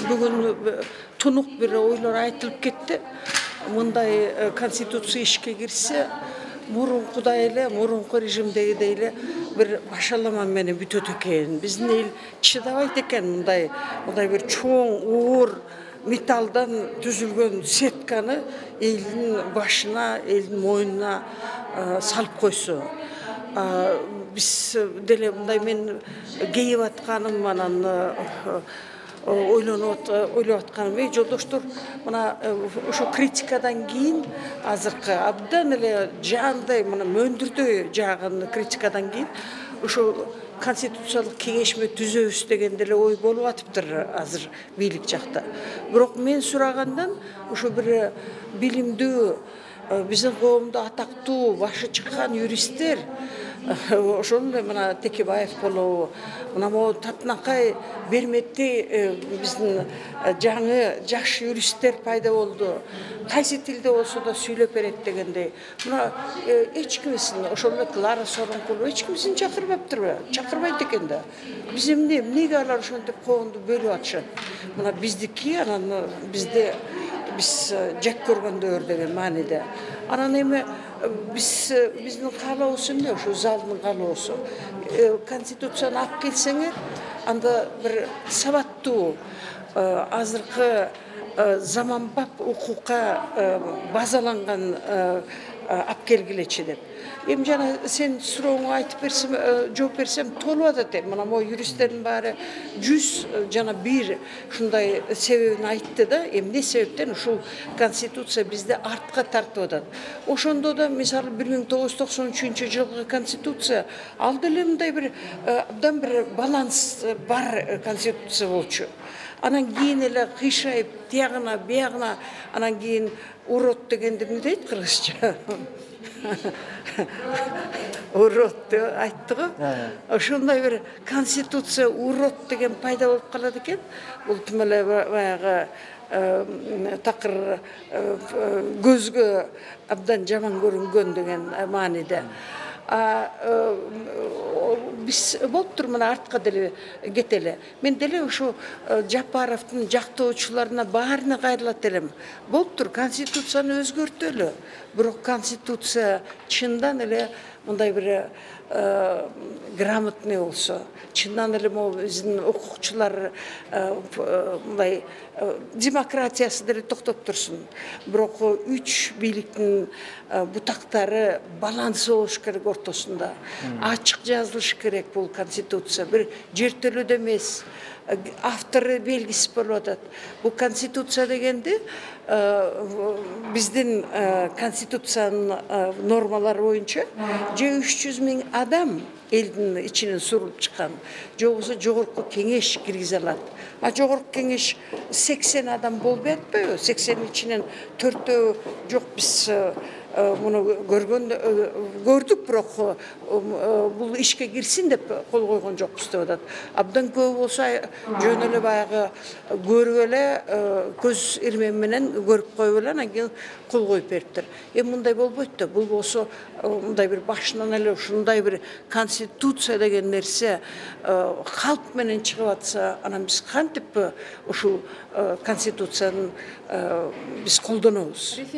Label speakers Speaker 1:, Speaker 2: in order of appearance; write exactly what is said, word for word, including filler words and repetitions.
Speaker 1: бүгүн тунук бир ойлор айтылып кетти. Мындай конституция ишке кирсе, мурункудай эле, мурунку режимдегидей эле бир башалама менен бүтөт экен. Биздин эл чыдабайт экен мындай, мындай бир чоң, оор металлдан түзүлгөн сетканы элдин башына, элдин мойнуна салып койсо. Биз деле мындай мен кейип атканым, анан ойлонуп ойлоп атканым, эй жолдоштор, мына ошо критикадан кийин азыркы абдан эле жаандай, мына мөндүрдөй жааган критикадан кийин ошо конституциялык кеңешме түзөбүз деген деле ой болуп атыптыр азыр бийлик жакта. Бирок мен сурагандан ошо бир билимдүү, биздин коомдо атактуу, башы чыккан юристтер, ошол эле мына Текебаев болобу, мына могу Татынакай Берметти биздин жаңы жаш юристтер пайда болду. Кайсы тилде болсо да сүйлөп берет дегендей. Мына эч кимисин, ошол эле Клара Сооронкулова эч кимисин чакырбаптырбы? Чакырбайт экен да. Биз эмне, эмнеге алар ошентип коомду бөлүп атышат? Мына биздики, анан бизде биз жек көргөндөр деген мааниде. Анан эми биз биздин каалообуз эмне? Ошо залдын каалоосу. Конституцияны алып келсеңер, анда бир сабаттуу, азыркы заманбап укукка базаланган алып келгилечи деп. Эми жана сен сурооңо айтып берсем, жооп берсем толуп атат эми. Мына могу юристтердин баары жүз жана бир ушундай себебин айтты да, эмне себептен ушул конституция бизди артка тартып атат. Ошондо да мисалы бир миң тогуз жүз токсон үчүнчү жылкы конституция ал деле мындай бир абдан бир баланс бар конституция болчу. Анан кийин эле кыйшайып, тиягына, биягына, анан кийин урод дегенди эмне дейт кыргызча? Урод деп айтты го. Ошондой бир конституция урод деген пайда болуп калат экен. Бул тим эле баягы такыр көзгө абдан жаман көрүнгөн деген мааниде. Биз болуптур, мына артка деле кетели. Мен деле ушу Жапаровдун жактоочуларына баарына кайрылат элем. Болуптур, конституцияны өзгөртөлү. Бирок конституция чындан эле мындай бир грамотный болсо, чындан эле могу биздин укукчулар мындай демократиясы деле токтоп турсун. Бирок үч бийликтин бутактары балансы болуш керек ортосунда. Ачык жазылыш керек бул конституция. Бир жертөлөдө эмес, автору белгисиз болуп атат. Бул конституция дегенди биздин конституциянын нормалары боюнча же үч жүз миң адам элдин ичинен сурулуп чыккан, же болбосо жогорку кеңеш киргизе алат. А жогорку кеңеш сексен адам болбой атпайбы? сексендин ичинен төртөө жок, биз муну көргөн көрдүк, бирок бул ишке кирсин деп кол койгон жокпуз деп атат. Абдан көп болсо жөн эле баягы көрүп эле көз ирмем менен көрүп коюп эле анан кийин кол коюп бериптир. Эми мындай болбойт да. Бул болсо мындай бир башынан эле ушундай бир конституция деген нерсе калп менен чыгып атса, анан биз кантип ушул конституцияны биз колдонобуз?